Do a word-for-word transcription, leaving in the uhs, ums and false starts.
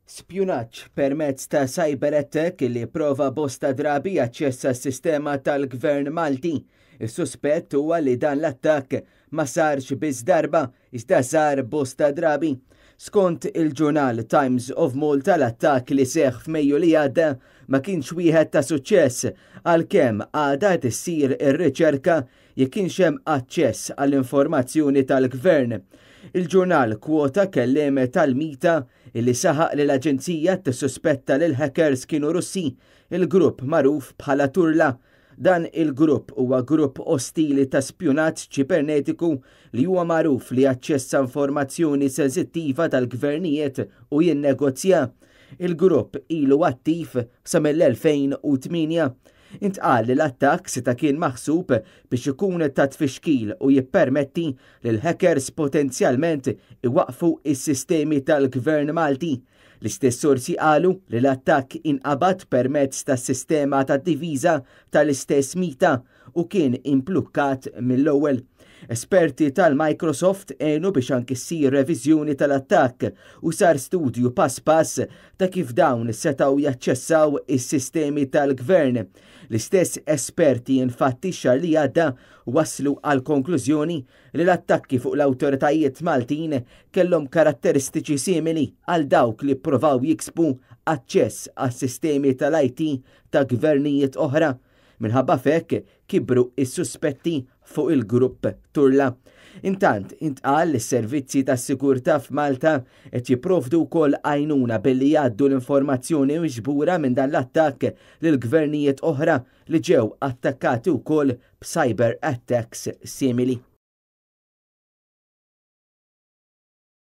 Spjunaġġ permezz ta' cyber attack li prova bosta drabi jaċċessa s-sistema tal-Gvern Malti. Is-suspett huwa li dan l-attakk ma sarx biss darba, iżda sar bosta drabi. Skont il-ġurnal Times of Malta, l-attakk li seħ f'Mejju li għadda ma kienx wieħed ta' suċċess, għalkemm għadha tissir ir-riċerka jekk kienx hemm aċċess għall-informazzjoni tal-Gvern. Il-ġurnal kwota kelliem tal-MITA illi saħaq li l-aġenzija tissuspetta li l-hackers kienu Russi, il-grupp magħruf bħala Turla. Dan il-grupp huwa grupp ostili ta' spjunaġġ ċibernetiku li huwa magħruf li jaċċessa informazzjoni sensittiva tal-gvernijiet u jinnegozja. Il-grupp ilu attiv sa mill-elfejn u tmienja. Intqal li l-attakk seta' kien maħsub biex ikun ta' tfixkil u jippermetti li l-hackers potenzjalment iwaqfu is-sistemi tal-Gvern Malti. L-istess sorsi qalu li l-attakk inqabad permezz tas-sistema ta' difiża tal-istess MITA u kien imblukkat mill-ewwel. Esperti tal-Microsoft għenu biex anki ssir reviżjoni tal-attakk u sar studju pass pass ta' kif dawn setgħu jaċċessaw is-sistemi tal-gvern. L-istess esperti infatti xahar li għadda waslu għal konklużjoni li l-attakki fuq l-awtoritajiet Maltin kellhom karatteristiċi simili għal dawk li provaw jiksbu aċċess għas-sistemi tal-I T ta' gvernijiet oħra. Minħabba f'hekk kibru is-suspetti fuq il-grupp Turla. Intant, intqal li s-servizzi ta' sigurtà f'Malta qed jipprovdu wkoll għajnuna billi jgħaddu l-informazzjoni miġbura minn dan l-attakk lil gvernijiet oħra li ġew attakkati wkoll b'cyber attacks simili.